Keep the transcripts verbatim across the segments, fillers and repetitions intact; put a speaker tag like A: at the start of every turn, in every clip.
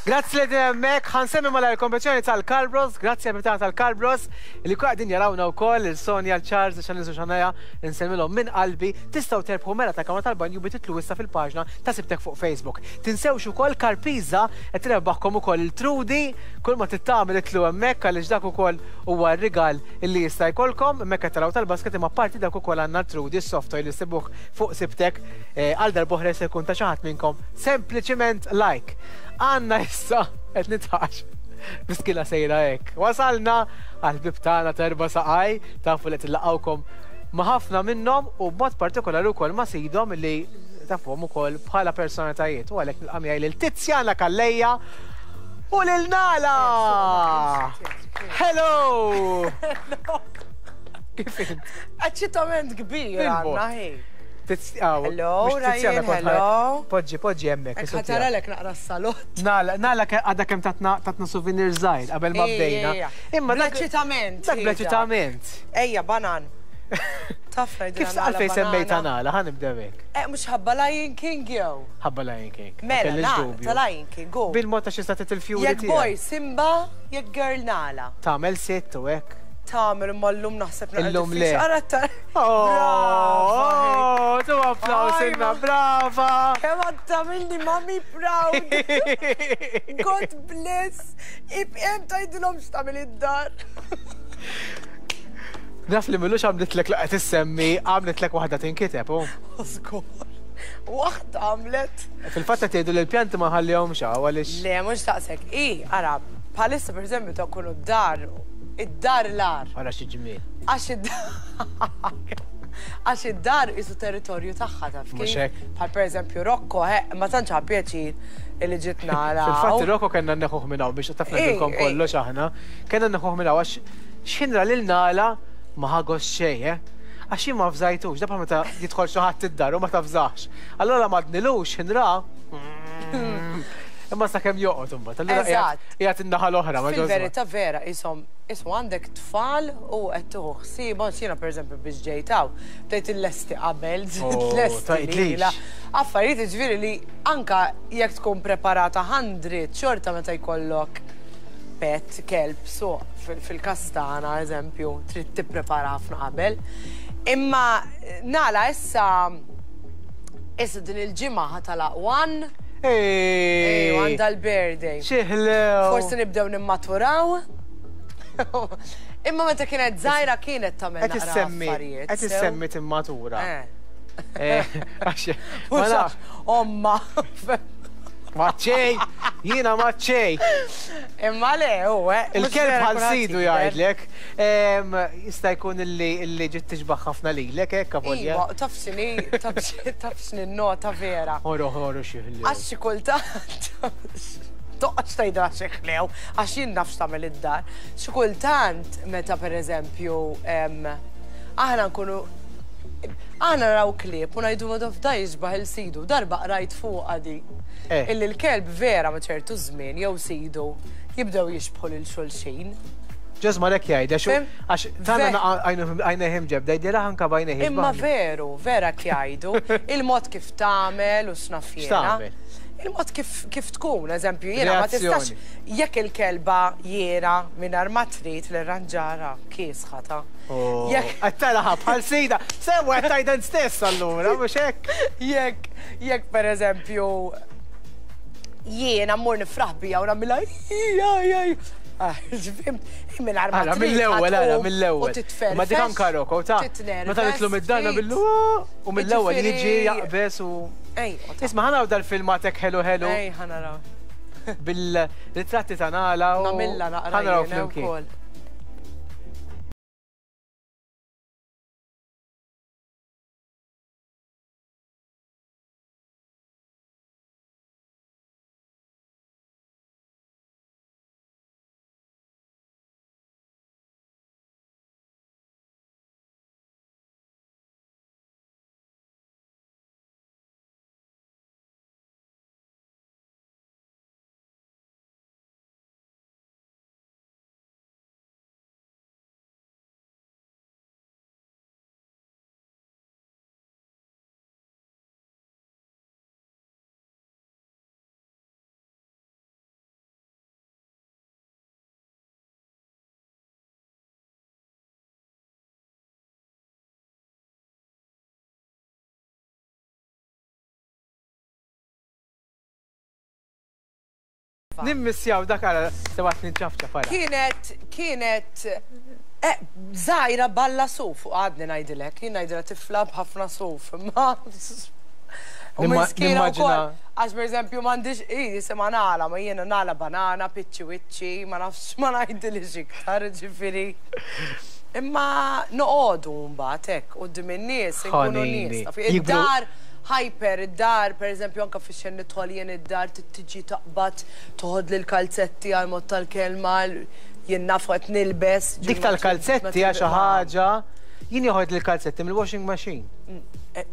A: Grazzi li hemmhekk, ħa nsemmi mal kompetizzjoni tal-Carbros, grazzi għal tal-Carbros, li kwa qegħdin jarawna wkoll il-Sonja, l-Charles, il-Xanizu Xanaja, nsemmilhom minn qalbi, tistgħu terbħu mera ta' kamra tal-banju bi titlu issa fil-paġna ta' Sibtek fuq Facebook. Tinsewx ukoll Karpiza qed tirbaħkom ukoll il-Trudi, kull ma tittamel itlu hemmhekk għaliex dak ukoll huwa r-rigal illi jista' jkollkom, hemmhekk qed taraw tal-basket imma parti dak ukoll għandna l-Trudi, s-soft toy li sibuh fuq Sibtek eh, għal darb'oħra se jkun ta' xi ħadd minnkom sempliċiment like. Għanna issa qed nitħax. Miskina sejra hekk. Wasalna għal bib tagħna terba saqaj, tafu li tillaqgħukom ma' ħafna minnhom u b'mod partikolari wkoll ma' sidhom li tafuhom ukoll bħala personalitajiet. U għalhekk nilqa' miegħi lil Tiziana Calleja u lil Nala! Hello! Kif int?
B: Eċċitament kbir għandna ħi.
A: Hello,
B: Ryan, hello.
A: Poġġi, poġġi hemmhekk.
B: Hekk ħataralek naqra s-salott.
A: Nala, nala għadha kemm tatna tatna souvenir żgħir qabel ma bdejna.
B: Imma dak Bl-eċċitament.
A: Dak bl-eċċitament.
B: Ejja, banan. Taf ngħidilha
A: Kif
B: Nala
A: għalfejn semmejta
B: banana.
A: Nala, ħa nibdew hekk.
B: Eh, mhux ħabba Lion King jew.
A: Ħabba Lion King. Ma
B: Mela,
A: kellix
B: Nala,
A: dubju.
B: ta' Lion King, go.
A: Bil-mod ta' xi statet il-fjuri
B: Jekk boy
A: tiegħek.
B: Simba, jekk girl Nala.
A: Tagħmel sitt u hekk.
B: Tagħmel imma llum naħseb naqra
A: Illum le.
B: diffiċli. Ara ta'
A: Oh, tu applaus
B: Ajma.
A: inna, brava!
B: Kemm għad tagħmilni mami proud. God bless. Ibqem tgħidilhom x'tagħmel id-dar.
A: Naf li millux għamlitlek laqgħet issemmi, għamlitlek waħda tinkiteb, u.
B: Żgur. Waħda għamlet.
A: Fil-fatt qed jgħidu li l-pjanti ma ħallihomx hawn għaliex.
B: Le, mhux daqshekk. I, ara, bħalissa pereżempju ta' kunu d-dar, id-dar l-ar.
A: Ara xi ġmiel.
B: Għax id-dar. Għax id-dar isu territorju tagħha taf
A: Mhux
B: kif.
A: hekk.
B: Bħal pereżempju Rocco, he, ma tantx ħa pjaċir illi ġiet nara.
A: Fil-fatt Rocco kellna neħuh minn hawn biex taf ngħidilkom
B: Ej, ej.
A: kollox aħna. Kellna neħuh minn hawn għax x'ħinra lil Nala ma ħagos xejn, eh? Għax jien ma fżajtux, da bħal meta jidħol xi ħadd id-dar u ma tafżax. Allura ma dnilux ħinra. Imma sakemm joqgħod imbagħad. Allura
B: Eżatt.
A: qiegħed in-naħa l-oħra ma
B: Fil-verità vera, isom, ismu għandek tfal u qed tieħu ħsiebhom, jiena pereżempju biex ġejtaw, bdejt il-lesti qabel,
A: Oh,
B: lesti
A: tgħidlix.
B: lila. Affarijiet ġifieri li anka jekk tkun preparata hundred xorta meta jkollok pet, kelb, so fil- fil-kastana, eżempju, trid tipprepara ħafna qabel. Imma Nala issa issa din il-ġimgħa ħa tagħlaq one,
A: Ej!
B: ejwa għandha l-birthday.
A: Xieħlew!
B: Forsi nibdew nimmaturaw. Imma meta kienet żgħira kienet tagħmel
A: Qed
B: naqra
A: issemmi,
B: affarijiet.
A: qed
B: sew.
A: issemmi timmatura.
B: Eh.
A: Eh, Għax, ma
B: Mhux
A: nafx,
B: omma.
A: maċċej, jiena maċċej.
B: Imma le, u eh. mhux
A: Il-kelb
B: vera
A: bħal
B: kulħadd
A: sidu
B: jikber.
A: jgħidlek. Em, Jista' jkun illi illi ġiet tixbaħ ħafna lilek hekk avolja.
B: Iva, taf x'inhi, taf x'inhi- taf x'inhi nota vera.
A: Oro oro xieħlew.
B: Għax xi kultant toqgħodx tgħidha xi ħlew, għax jien naf x'tagħmel id-dar. Xi kultant meta pereżempju em, aħna nkunu aħna naraw klieb u ngħidu ma taf da jixbaħ il-sidu, darba qrajt fuqha di.
A: Eh.
B: Illi l-kelb vera ma ċertu żmien jew sidu jibdew jixbħu lil xulxin.
A: Ġeżma lek jgħid, għax
B: Fim?
A: għax tagħna
B: Ve-
A: għajnejhim ġebda, jgħidilha anka b'għajnejh
B: Imma
A: jixbaħni.
B: veru, vera jgħidu, il-mod kif tagħmel u x'naf jiena.
A: X'tagħmel?
B: Il-mod kif, kif tkun, eżempju, jiena ma tistax
A: Reazzjoni.
B: jekk il-kelba jiena mingħajr ma trid l-ranġara kiesħa ta'
A: Oh,
B: Jekk
A: Qed taraha bħal sida. Sewa qed tgħidha stess allura, mhux hekk.
B: jekk jekk pereżempju jiena mmur nifraħ bija u nagħmilha ija ija. Ah, Fimt, mingħajr ma
A: Ara,
B: trid
A: mill-ewwel, ara,
B: ħa tqum
A: mill-ewwel.
B: U titferfex.
A: Ma dik anka Rocco, ta' meta nitlu mid-darna
B: ftit.
A: billu u mill-ewwel jiġi
B: Jiġifieri-
A: jaqbes u.
B: Ej, u ta'
A: Isma' ħa naraw dal-filmatek ħelu ħelu
B: Ej, ħa naraw.
A: bil-ritratti ta' Nala u.
B: Nagħmilha naqra
A: ħa naraw
B: jiena
A: flimkien.
B: wkoll.
A: Nimmissjaw dak għara sebat ninċafċa fara.
B: Kienet, kienet, żgħira balla suf, u għadni ngħidilek, jien ngħidilha tifla b'ħafna suf, imma. U miskina wkoll, għax pereżempju m'għandix, hi jisimha Nala, ma jiena Nala banana, piċċi wiċċi, ma nafx ma ngħidilix iktar, ġifieri. Imma noqogħdu mbagħad hekk quddiem in-nies, inkunu nies. Id-dar hyper, id-dar, pereżempju anke fix-xejn nidħol jien id-dar tiġi taqbad, toħodli l-kalzetti għal mod tal-kelma, jien naf qed nilbes.
A: Dik tal-kalzetti hija xi ħaġa, jien joħodli l-kalzetti mill-washing machine.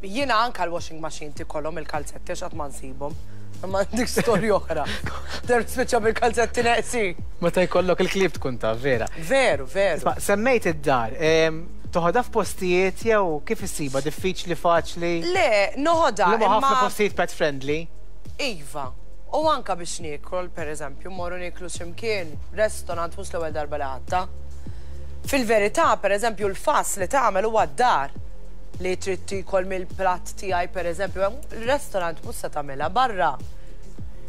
B: Jiena anke l-washing machine tikollhom il-kalzetti għax qatt ma nsibhom. Imma dik storja oħra. Darba spiċċa bil-kalzetti neqsin.
A: Meta jkollok il-klieb tkun taf, vera.
B: Veru, veru.
A: Isma', semmejt id-dar. Toħodha f'postijiet jew kif issiba? Diffiċli, faċli?
B: Le, noħodha.
A: Li ħafna postijiet pet friendly.
B: Iva. U anka biex niekol, pereżempju, mmorru nieklu x'imkien, restaurant mhux l-ewwel darba li ħadta. Fil-verità, pereżempju, l-fass li tagħmel huwa d-dar li trid tiekol mill-platt tiegħi, pereżempju, il-restaurant mhux se tagħmilha barra.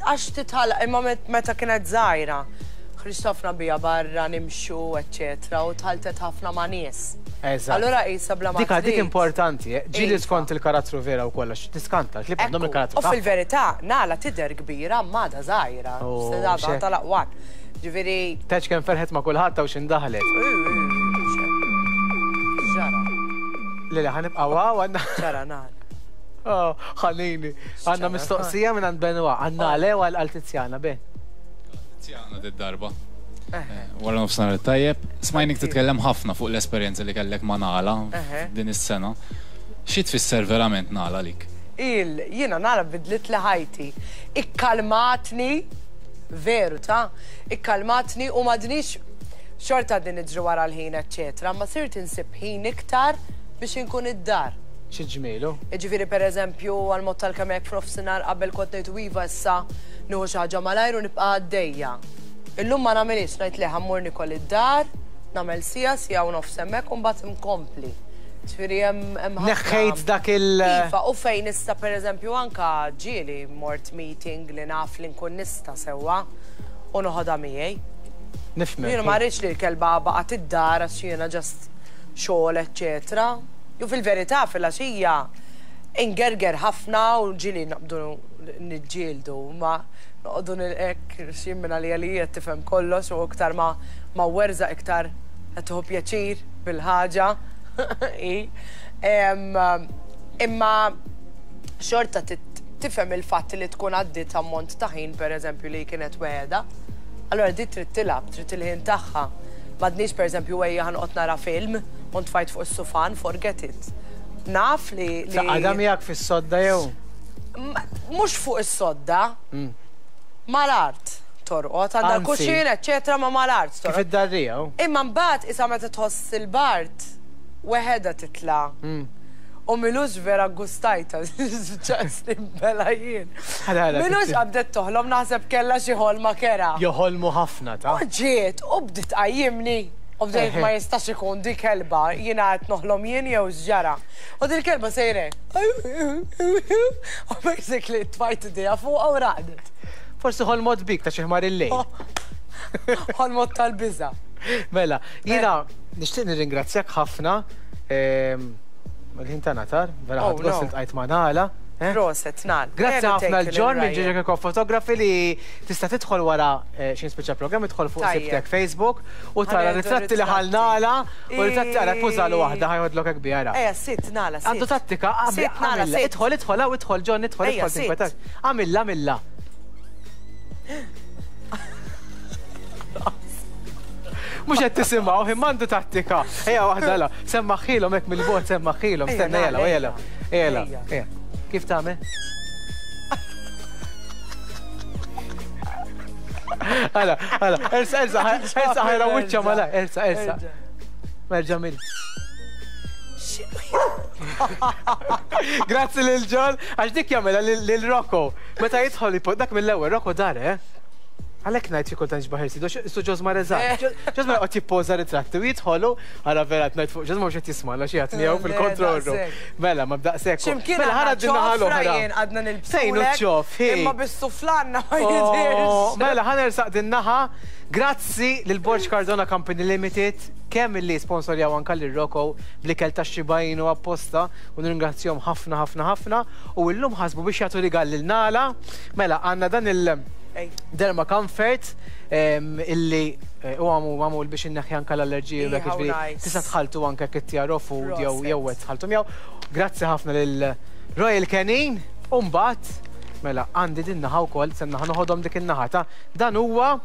B: Għax titħalla, imma meta kienet żgħira, ħriġt ħafna bija barra, nimxu, eċċetera, u tħaltet ħafna ma' nies. Allura qisha bla ma
A: Dik dik importanti, ġieli skont il-karattru vera u kollox, tiskanta, li għandhom il-karattru.
B: U fil-verità, Nala tidher kbira, ma da żgħira, sedha tal-aqwan. Ġifieri.
A: Teċ kemm ferħet ma' kulħadd u x'indaħlet.
B: Ġara.
A: Le le ħanibqa' waw għandna.
B: Ġara Nala.
A: Oh, ħanini. Għandna mistoqsija minn għand Benoit, għandna għal għal Tiziana, Ben.
C: Tiziana d-darba. Wara nofsinhar tajjeb, smajnik titkellem ħafna fuq l-esperjenza li kellek ma' Nala din is-sena. Xi tfisser verament Nala lik?
B: Il, jiena Nala bidlit li ħajti. Ikkalmatni, veru ta' ikkalmatni u m'għadnix xorta din niġri wara l-ħin, eċċetera, ma sirt insib ħin iktar biex inkun id-dar.
A: Xi ġmielu?
B: Jiġifieri pereżempju għal-mod tal-kemm hekk f'nofsinhar qabel kont ngħid iva issa nieħu xi ħaġa malajr u nibqa' għaddejja. Illum ma nagħmilx, ngħid le ħammur nikol id-dar, nagħmel sija, sija u nofs hemmhekk u mbagħad inkompli. Ġifieri hemm ħafna.
A: Neħħejt dak il-
B: Iva, u fejn nista' pereżempju anka ġieli mort meeting li naf li nkun nista' sewwa u noħodha miegħi.
A: Nifhem.
B: Jiena ma rridx li l-kelba baqgħet id-dar għax jiena ġast xogħol, eċċetera. Ju fil-verità fil-għaxija ingerger ħafna u ġieli naqbdu niġġieldu, ma noqogħdu nilqek xi minn għalija li qed tifhem kollox u iktar ma ma werżaq iktar qed tieħu pjaċir bil-ħaġa. Imma xorta tifhem il-fatt li tkun għaddiet ammont ta' ħin pereżempju li kienet weħeda. Allura di trid tilgħab, trid il-ħin tagħha. M'għadniex pereżempju ejja ħanqod nara film u ntfajt fuq is-sufan, forget it. Naf li.
A: Taqgħadha miegħek fis-sodda jew?
B: Mhux fuq is-sodda. Mal-art torqod, għandha l-kuxin, eċċetera, ma mal-art torqod.
A: Kif id-darrija?
B: Imma mbagħad isa meta tħoss il-bart, weħeda titla'. U milux vera gustajta, ċaqsni bela jien. Milux qabdet toħlom naħseb kellha xi ħolma kera.
A: Joħolmu ħafna ta'
B: U ġiet, u bdiet tqajjimni. U bdejt ma jistax ikun di kelba, jiena qed noħlom jien jew x'ġara. U din kelba sejre. U basically tfajt idejha fuqha u raqdet.
A: Forsi ħolmot bik ta' xi ħmar il-lejl.
B: Ħolmot tal-biża'.
A: Mela, jiena nixtieq nirringrazzjak ħafna. Il-ħin tagħna tar, vera ħadd gost iltqajt ma' Nala.
B: Proset, Nal.
A: Grazzi ħafna l-John minn Ġeġa Kirkop Photography li tista' tidħol wara xi speċa programm, idħol fuq sibtek Facebook u tara ritratti li ħal Nala u ritratti għara pużalu waħda ħajħodlok hekk biha.
B: Ejja, sitt Nala, sitt.
A: Għandu tattika, għamilla, idħol, idħol, hawn idħol John, idħol, idħol tinkwetax. Għamilla, għamilla. Mhux qed tisimgħu, imma għandu tattika. Ejja waħda la, semmaħħilhom hekk mill-bogħod, semmaħħilhom, stenna jela, jela. Jela, ejja. Kif tagħmel? Għala, għala, ersa, ersa, ersa ħajra wiċċa mala, ersa, ersa. Merġa' mill. Grazzi lil John, għax dik jagħmilha lil Rocco. Meta jidħol dak mill-ewwel Rocco dar, eh? Għalhekk ngħid xi kultant xbaħ irsidu, su Ġosmar eżatt. Ġosmar qed jippoża ritratti u jidħolu, għara vera qed ngħid fuq Ġosmar mhux qed jismagħna xi ħadd miegħu fil-control room. Mela, ma b'daqshekk.
B: X'imkien
A: Mela ħara din naħa
B: ċofra
A: l-oħra.
B: jien għadna nilbsulek.
A: Fejn hu ċof, hi.
B: Imma bis-suflanna ma
A: Oh,
B: jidirx.
A: Mela, ħa nersaq din naħa. Grazzi lil Borg Cardona Company Limited, kemm illi sponsorjaw anka lil Rocco bl-ikel ta' xibajn u apposta u nirringrazzjahom ħafna ħafna ħafna u illum ħasbu biex jagħtu rigal lil Nala. Mela, għandna dan il-
B: Ej.
A: Derma Comfort em, illi eh, u għamu għamu biex inneħħi anka l-allerġiji u dak
B: How
A: jiġifieri
B: nice.
A: tista' tħaltu anke kittjar food jew
B: Proset.
A: jew qed tħaltu miegħu. Grazzi ħafna lil Royal Canin u mbagħad mela għandi din naħa wkoll se naħa noħodhom dik in-naħa ta' dan huwa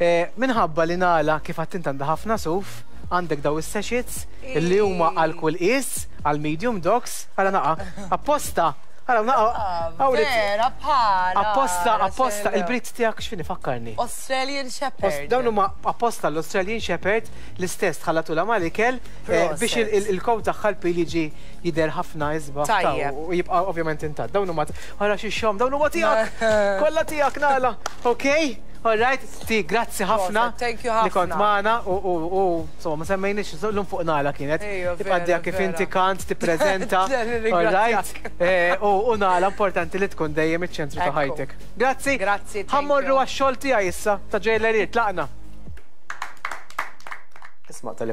A: eh, minħabba li Nala kif għedt int għandha ħafna suf għandek daw is-sachets illi huma għal kull qies għal medium dogs għala naqa apposta għala naqa hawn it-
B: Vera, bħala.
A: Apposta, apposta,
B: Rachel.
A: il-breed tiegħek x'fini fakkarni.
B: Australian Shepherd.
A: Dawn huma apposta l-Australian Shepherd l-istess tħallatula mal-ikel eh, biex il- il- il-coat tagħha l-pil jiġi jidher ħafna isbaħ ta'
B: Tajjeb.
A: u jibqa' ovvjament intatt. Dawn huma ħara xi xom, dawn huma tiegħek. Kollha tiegħek Nala. Okay? All right, ti grazzi ħafna.
B: Proset, thank you
A: Li kont
B: ħafna.
A: magħna u u u insomma ma semmejniex llum fuq Nala kienet.
B: Ejja,
A: Tibqa'
B: vera,
A: għaddejja kif
B: vera.
A: inti kant tippreżenta. All right.
B: Nirringrazzjak.
A: Eh, U u Nala importanti li tkun dejjem iċ-ċentru ta'
B: Ekku.
A: ħajtek. Grazzi.
B: Grazzi, thank
A: Ħa mmorru
B: you.
A: għax-xogħol tiegħi issa ta' ġejleriet, tlaqna. Isma' tal